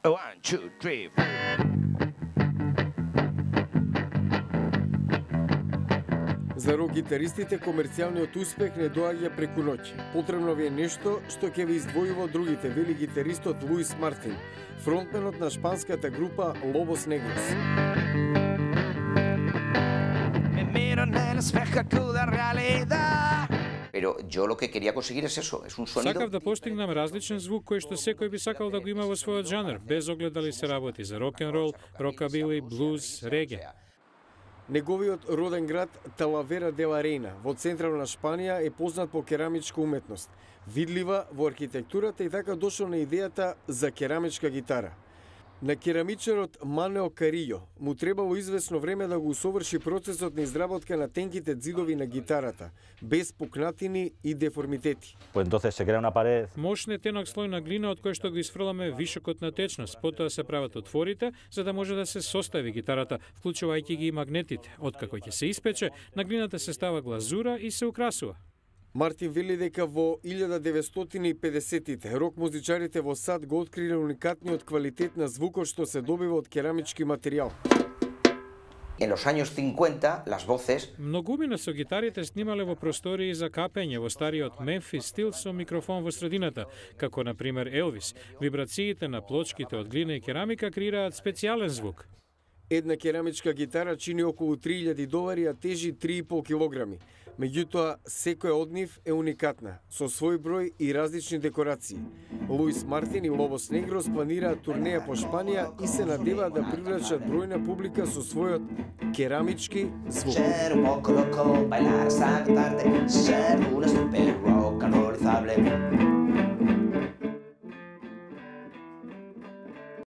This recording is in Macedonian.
1, 2, 3, 4. За рок-гитаристите комерцијалниот успех не доаѓа преку ноќ. Потребно ви е нешто што ќе ви издвојува од другите, вели гитаристот Луис Мартин, фронтменот на шпанската група Lobos Negros. Pero yo lo que quería conseguir es eso, es un sonido. Сакав да постигнам различен звук кој што секој би сакал да го има во својот жанр, без оглед дали се работи за рок-н-рол, рокабили, блуз, реге. Неговиот роден град Талавера де ла Рейна во централна Шпанија е познат по керамичка уметност, видлива во архитектурата и така дошол на идејата за керамичка гитара. На керамичарот Манео Каријо му требало известно време да го усоврши процесот на изработка на тенките ѕидови на гитарата, без пукнатини и деформитети. Мощен е тенок слој на глина од кој што го изфрламе вишокот на течност, потоа се прават отворите за да може да се состави гитарата, вклучувајќи ги и магнетите. Откако ќе се испече, на глината се става глазура и се украсува. Мартин вели дека во 1950-тите рок-музичарите во САД го откриле уникатниот квалитет на звукот што се добива од керамички материјал. En los años 50, las voces... Многумина со гитарите снимале во простории за капење во стариот Мемфис стил со микрофон во средината, како на пример Елвис. Вибрациите на плочките од глина и керамика креираат специјален звук. Една керамичка гитара чини околу $3000, а тежи 3,5 килограми. Меѓутоа, секоја од нив е уникатна, со свој број и различни декорации. Луис Мартин и Lobos Negros планираат турнеја по Шпанија и се надеваат да привлечат бројна публика со својот керамички звук. Ser un poco loco, bailar, saltarte, ser un super rock, canorizable.